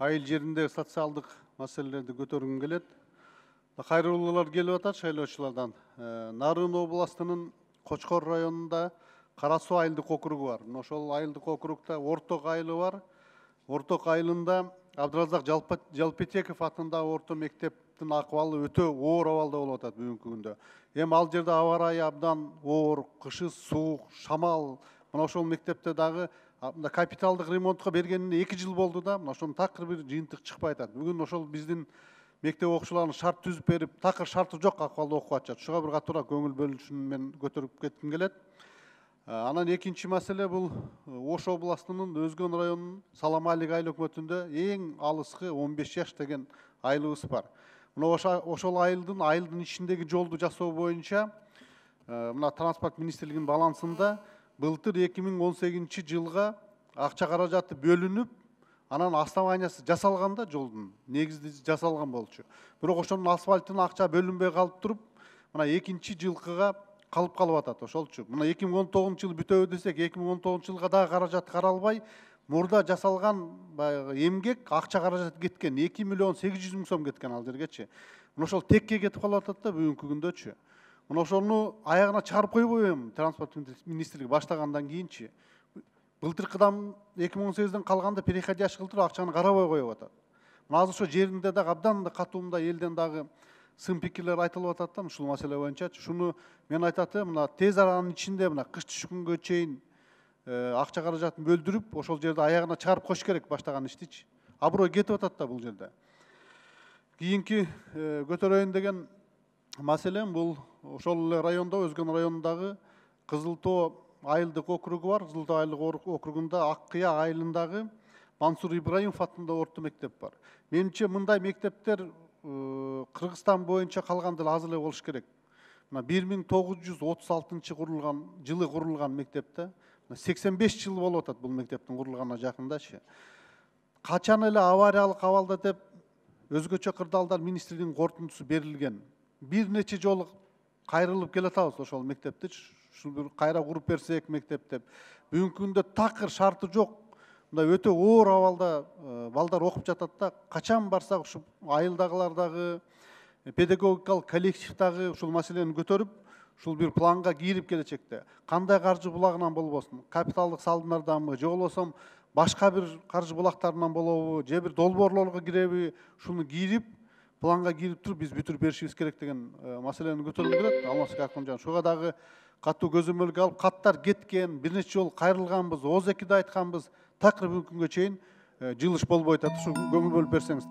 айыл жеринде социалдык маселелерди көтөргүм келет. Кайрылуулар келип атат шайлоочулардан. Нарын областынын Кочкор районунда Кара Суу айылдык округу бар. Ошол айылдык округда Орток айылы бар. Орток айылында Абдыразак Жалпетеков атындагы орто мектептин акыбалы өтө оор абалда болуп атат бүгүнкү күндө. Эми ал жерде аба ырайы абдан оор, кышы суук, шамал. Мына ошол мектепте дагы капиталдык ремонтко бергенине 2 жыл болду да, мына ошонун такыр бир жыйынтык чыкпай атат. Бүгүн ошол биздин мектеп окуучуларына шарт түзүп берип, такыр шарты жок акыбалда окуп атышат. Шуга бир катуура көңүл бөлүнүшүн мен көтөрүп кетким келет. Анан экинчи маселе бул Ош областынын Өзгөн районунун Саламалик айыл өкмөтүндө эң алыскы 15 жаш деген айылыбыз бар. Мына ошол айылдын ичиндеги жолду жасоо боюнча мына транспорт министрлигинин балансында былтыр 2018 жылга акча каражаты бөлүнүп, анан основаниясы жасалганда жолдун негизди жасалган болчу. Бирок ошонун асфальтына акча бөлүнбөй калып туруп, мына экинчи жылкыга калып атат ошолчу. Мына 2019 жыл бүтөбү десек, 2019 жылга дагы каражат каралбай, мурда жасалган баягы эмгек акча каражаты кеткен. 2 миллион 800 миң сом кеткен ал жергечи. Мына ошол текке кетип калып атат да бүгүнкү күндөчү. Мына ошону аягына чыгарып койбойбу эми транспорт министрлиги баштагандан кийинчи. Былтыркыдан 2018ден калганда переходящий кылдырып акчаны карабай коюп атат. Мына азыр ошо жеринде дагы абдан катуумда элден дагы сын пикирлер айтылып атат да ушул маселе боюнча. Шуну мен айтат элем, мына тез аранын ичинде мына кыш түшкөнгө чейин акча каражатын бөлдүрүп, ошол жерде аягына чыгарып коюш керек баштаган иштичи. Аброй кетип атат да бул жерде. Кийинки көтөрөйүн деген маселем бул ошол эле райондо, Өзгөн районундагы Кызыл Тоо айылдык округу бар. Кызыл Тоо айылдык округунда Ак Кыя айылындагы Мансур Ибраимов атындагы орто мектеп бар. Менимче мындай мектептер Кыргызстан боюнча калганда эле аз эле болуш керек. Мына 1936 жылы курулган мектепте 85 жыл болуп атат бул мектептин курулганына жакындачы. Качан эле авариялык абалда деп өзгөчө кырдаалдар министрлигинин корутундусу берилген. Бир нече жолу кайрылып келатабыз ошол мектепти. Ушул бир кайра куруп берсек мектеп деп. Бүгүнкү күндө такыр шарты жок. Мындай өтө оор абалда балдар окуп жатат да. Качан барсак ушу айылдагылар дагы, педагогикалык коллектив дагы ушул маселени көтөрүп, ушул бир планга кирип келечекте. Кандай каржы булагынан болбосун, капиталдык салымдарданбы, же болбосо башка бир каржы булактарынан болобу, же бир долбоорлорго киреби, ушуну кирип, планга кирип туруп биз бүтүрүп беришибиз керек деген маселени көтөрүлүп келет. Алмазбек Акмыржан, шуга дагы катуу көзөмөлгө алып, каттар кеткен, бир нече жолу кайрылганбыз, ооз экиде айтканбыз, такыр бүгүнкү күнгө чейин жылыш болбой атат. Ушу көңүл бөлүп берсеңиз.